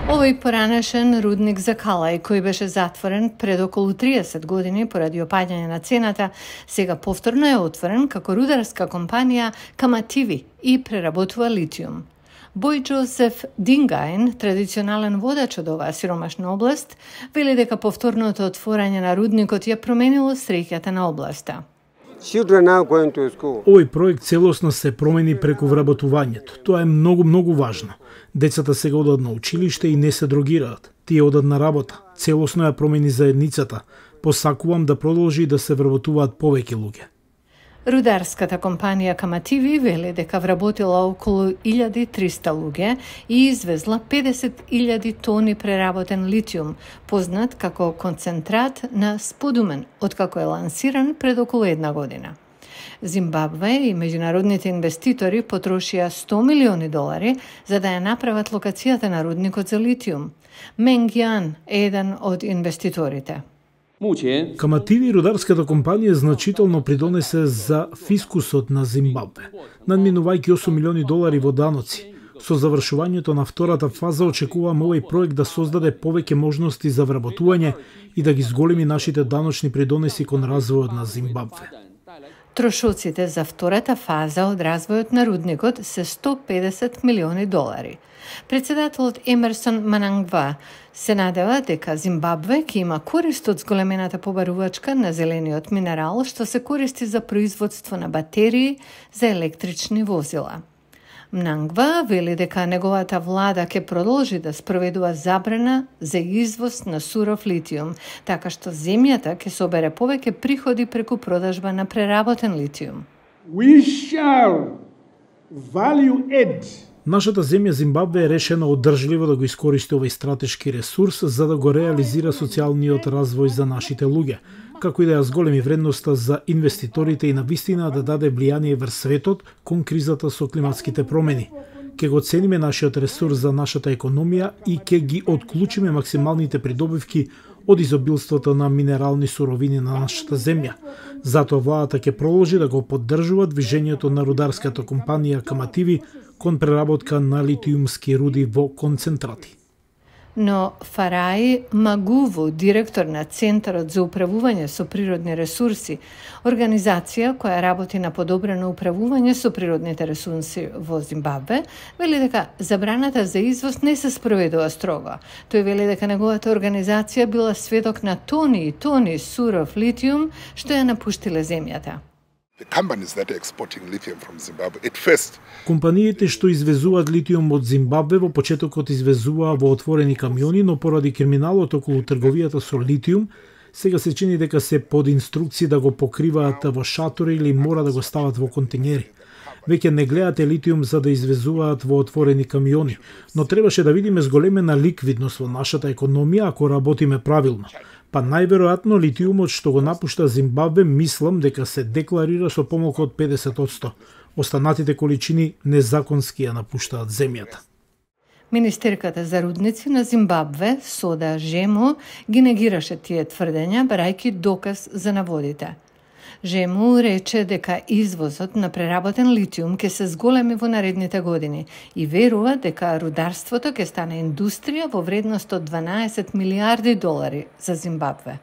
Овој поранешен рудник за Калај, кој беше затворен пред околу 30 години поради опаѓање на цената, сега повторно е отворен како рударска компанија Камативи и преработува литиум. Бој Джозеф Дингајн, традиционален водач од оваа сиромашна област, вели дека повторното отворање на рудникот ја променило среќата на областа. Овој проект целосно се промени преку вработувањето. Тоа е многу важно. Децата сега одат на училиште и не се дрогираат. Тие одат на работа. Целосно ја промени заедницата. Посакувам да продолжи да се вработуваат повеќе луѓе. Рударската компанија Камативи вели дека вработила околу 1300 луѓе и извезла 50.000 тони преработен литиум, познат како концентрат на сподумен, откако е лансиран пред околу една година. Зимбабве и меѓународните инвеститори потрошија $100 милиони за да ја направат локацијата на рудникот за литиум. Менг Јан е еден од инвеститорите. Камативи рударската компанија значително придонесе за фискусот на Зимбабве, надминувајќи $8 милиони во даноци. Со завршувањето на втората фаза очекуваме овој проект да создаде повеќе можности за вработување и да ги зголеми нашите даночни придонеси кон развојот на Зимбабве. Трошоците за втората фаза од развојот на рудникот се $150 милиони. Председателот Емерсон Манангва се надева дека Зимбабве ќе има корист од зголемената побарувачка на зелениот минерал што се користи за производство на батерии за електрични возила. Мнангва вели дека неговата влада ќе продолжи да спроведува забрана за извоз на суров литиум, така што земјата ќе собере повеќе приходи преку продажба на преработен литиум. Нашата земја Зимбабве е решена одржливо да го искористи овој стратешки ресурс за да го реализира социјалниот развој за нашите луѓе, како и да ја зголеми вредноста за инвеститорите и навистина да даде влијание врз светот кон кризата со климатските промени. Ке го цениме нашиот ресурс за нашата економија и ке ги отклучиме максималните придобивки од изобилството на минерални суровини на нашата земја. Затоа владата ќе продолжи да го поддржува движењето на рударската компанија Камативи кон преработка на литиумски руди во концентрати. Но Фарај Магуву, директор на Центарот за управување со природни ресурси, организација која работи на подобрено управување со природните ресурси во Зимбабве, вели дека забраната за извоз не се спроведува строго. Тој вели дека неговата организација била сведок на тони и тони суров литиум што ја напуштиле земјата. Компаниите што извезуваат литиум од Зимбабве во почетокот извезуваа во отворени камиони, но поради криминалот околу трговијата со литиум, сега се чини дека се под инструкции да го покриваат во шатори или мора да го стават во континери. Веќе не гледате литиум за да извезуваат во отворени камиони, но требаше да видиме зголемена ликвидност во нашата економија ако работиме правилно. Па најверојатно литиумот што го напушта Зимбабве мислам дека се декларира со помалку од 50%. Останатите количини незаконски ја напуштаат земјата. Министерката за рудници на Зимбабве, Сода Жемо, ги негираше тие тврдења, барајќи доказ за наводите. Жему рече дека извозот на преработен литиум ќе се зголеми во наредните години и верува дека рударството ќе стане индустрија во вредност од $12 милиарди за Зимбабве.